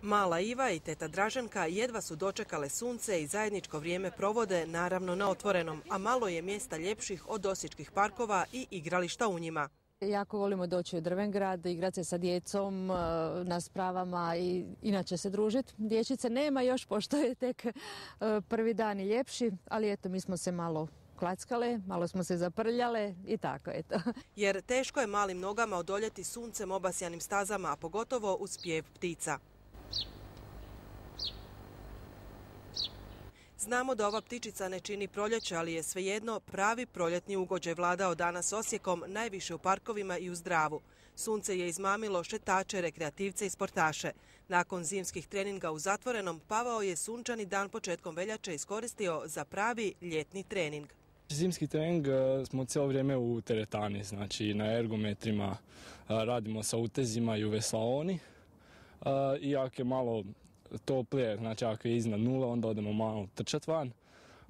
Mala Iva i teta Draženka jedva su dočekale sunce i zajedničko vrijeme provode naravno na otvorenom, a malo je mjesta ljepših od osječkih parkova i igrališta u njima. Jako volimo doći u Drvengrad, igrati se sa djecom na spravama i inače se družiti. Dječice nema još pošto je tek prvi dan i ljepši, ali eto mi smo se malo klackale, malo smo se zaprljale i tako eto. Jer teško je malim nogama odoljeti suncem obasjanim stazama, a pogotovo uz pjev ptica. Znamo da ova ptičica ne čini proljeće, ali je svejedno pravi proljetni ugođaj vladao danas Osijekom, najviše u parkovima i u Zdravu. Sunce je izmamilo šetače, rekreativce i sportaše. Nakon zimskih treninga u zatvorenom, Pavao je sunčani dan početkom veljače iskoristio za pravi ljetni trening. Zimski trening smo cijelo vrijeme u teretani, znači na ergometrima, radimo sa utezima i u veslaoni. I ako je malo toplije, znači ako je iznad nule, onda odemo malo trčati van.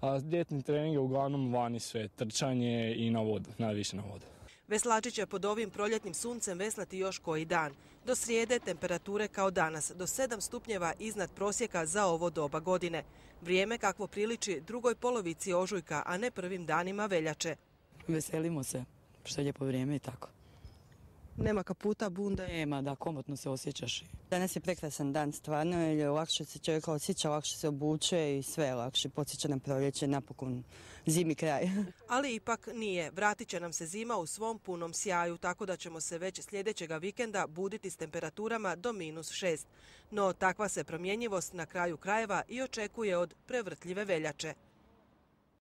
A ljetni trening je uglavnom vani sve, trčanje i na vodu, najviše na vodu. Veslači će pod ovim proljetnim suncem veslati još koji dan. Do srijede temperature kao danas, do 7 stupnjeva iznad prosjeka za ovo doba godine. Vrijeme kakvo priliči drugoj polovici ožujka, a ne prvim danima veljače. Veselimo se, što je lijepo vrijeme i tako. Nema kaputa, bunde? Nema, da, komotno se osjećaš. Danas je prekrasan dan stvarno, jer lakše se čovjek osjeća, lakše se obuče i sve je lakše. Podsjeća na proljeće, napokon zimi kraj. Ali ipak nije. Vratit će nam se zima u svom punom sjaju, tako da ćemo se već sljedećega vikenda buditi s temperaturama do -6. No takva se promjenjivost na kraju krajeva i očekuje od prevrtljive veljače.